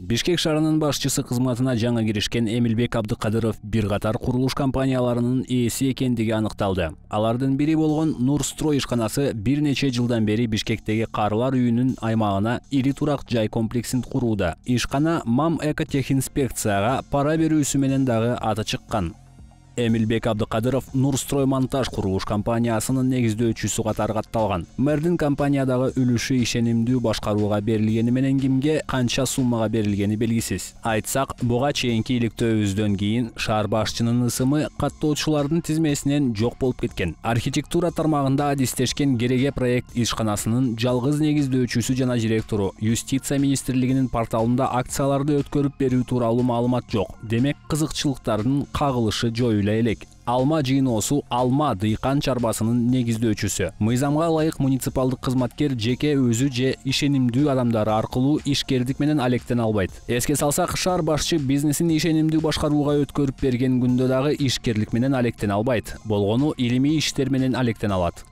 Бишкек шаарынын башчысы кызматына жаңы киришкен Эмилбек Абдыкадыров бир катар курулуш компанияларынын ээси экендиги аныкталды. Алардын бири болгон Нурстрой ишканасы бир нече жылдан бери Бишкектеги карылар үйүнүн аймагына ири турак жай комплексин курууда. Ишкана МАМ экотехинспекцияга пара берүүсү менен дагы аты чыккан. Эмилбек Абдыкадыров Нурстрой монтаж курулуш компаниясынын негиздөөчүсү катары катталган. Мэрдин компаниядагы үлүшү ишенимдүү башкарууга берилгени менен кимге канча суммага берилгени белгисиз. Айтсак, буга чейинки иликтөөбүздөн кийин шаар башчынын ысымы каттоочулардын тизмесинен жок болуп кеткен. Архитектура тармагында адистешкен Кереге проект ишканасынын жалгыз негиздөөчүсү жана директору Юстиция министрлигинин порталында акцияларды өткөрүп берүү тууралуу маалымат жок. Демек, кызыкчылыктардын кагылышы жоюлат элек. Алма жыйноосу Алма дыйкан чарбасынын негиздөөчүсү. Мыйзамга ылайык муниципалдык кызматкер жеке өзү же ишенимдүү адамдары аркылуу ишкердик менен алектене албайт. Эске салсак, шаар башчы бизнесин ишенимдүү башкарууга өткөрүп берген күндө дагы ишкерлик менен алектене албайт. Болгону илимий иштер менен алектене алат.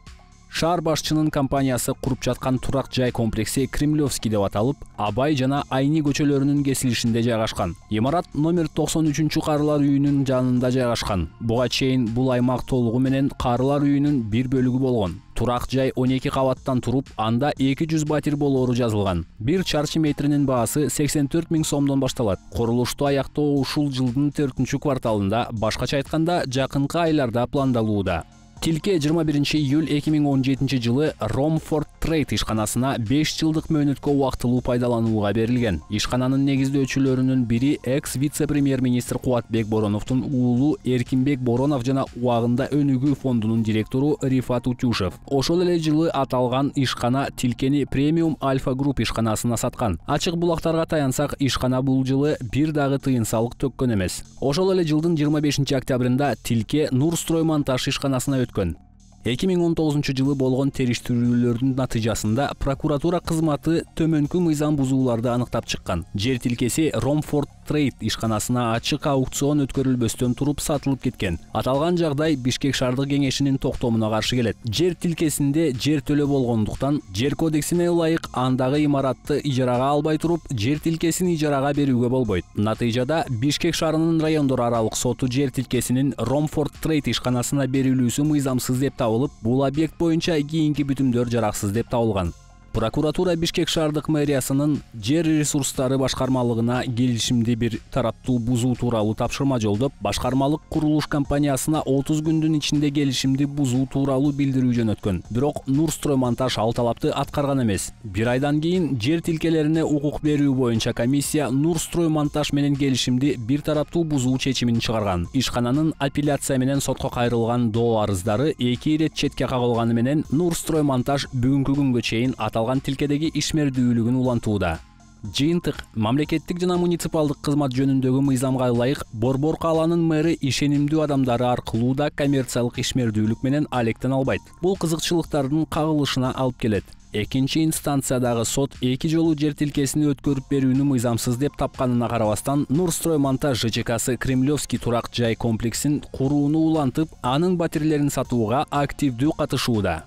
Шаар башчынын компаниясы куруп жаткан турак жай комплекси Кремлевский деп аталып, Абай жана Айни көчөлөрүнүн кесилишинде жайгашкан. Имарат номер 93 карылар үйүнүн жанында жайгашкан. Буга чейин бул аймак толугу менен карылар үйүнүн бир бөлүгү болгон. Турак жай 12 кабаттан туруп, анда 200 батир болоору жазылган. Бир чарчы метринин баасы 84 000 сомдон башталат. Курулушту аяктоо ушул жылдын 4-кварталында, башкача айтканда, жакынкы айларда пландалууда. Тилке 21 июль 2017 жылы Ромфорд Трейд ишканасына 5 жылдык мөөнөткө убактылуу пайдаланууга берилген. Ишкананын негиздөөчүлөрүнүн бири экс-вице-премьер-министр Кубатбек Бороновдун уулу Эркинбек Боронов жана убагында Өнүгүү фондунун директору Рифат Утюшев. Ошол эле жылы аталган ишкана Тилкени Премиум Альфа Групп ишканасына саткан. Ачык булактарга таянсак, ишкана бул жылы бир дагы тыйын салык төккөн эмес. Ошол эле жылдын 25 октябрында Тилке Нурстрой монтаж ишканасына 2019 жылы болгон териштирүүлөрдүн натыйжасында прокуратура кызматы төмөнкү мыйзам бузууларды аныктап чыккан. Жер тилкеси Ромфорд Трейд ишканасына ачык аукцион өткөрүлбөстөн туруп сатылып кеткен. Аталган жагдай Бишкек шаардык кеңешинин токтомуна каршы келет. Жер тилкесинде жер төлөө болгондуктан, жер кодексине ылайык андагы имаратты ижарага албай туруп, жер тилкесин ижарага берүүгө болбойт. Натыйжада Бишкек шаарынын райондор аралык соту жер тилкесинин Ромфорд Трейд ишканасына берилүүсү мыйзамсыз деп табылып, бул объект боюнча кийинки бүтүмдөр жараксыз деп табылган. Прокуратура Бишкек шаардык мэриясынын жер ресурстары башкармалыгына келишимди бир тараптуу бузуу тууралуу тапшырма жолдоп, башкармалык курулуш компаниясына 30 күндүн ичинде келишимди бузуу тууралуу билдирүү жөнөткөн. Бирок Нурстрой монтаж ал талапты аткарган эмес. Бир айдан кийин жер тилкелерине укук берүү боюнча комиссия Нурстрой монтаж менен келишимди бир тараптуу бузуу чечимин чыгарган. Ишкананын апелляция менен сотко кайрылган доо арыздары 2 ирет четке кагылганы менен Нурстрой монтаж бүгүнкү күнгө чейин аталган тилкедеги ишмердүүлүгүн улантууда. Жыйынтык: мамлекеттик жана муниципалдык кызмат жөнүндөгү мыйзамга ылайык Борбор калаанын мэри ишенимдүү адамдары аркылуу да коммерциялык ишмердүүлүк менен алектене албайт. Бул кызыкчылыктардын кагылышына алып келет. Экинчи инстанциядагы сот 2 жолу жер тилкесин өткөрүп берүүнү мыйзамсыз деп тапканына карабастан, Нурстрой монтаж ЖЧКсы Кремлевский турак жай комплексин курууну улантып, анын батирлерин сатууга активдүү катышууда.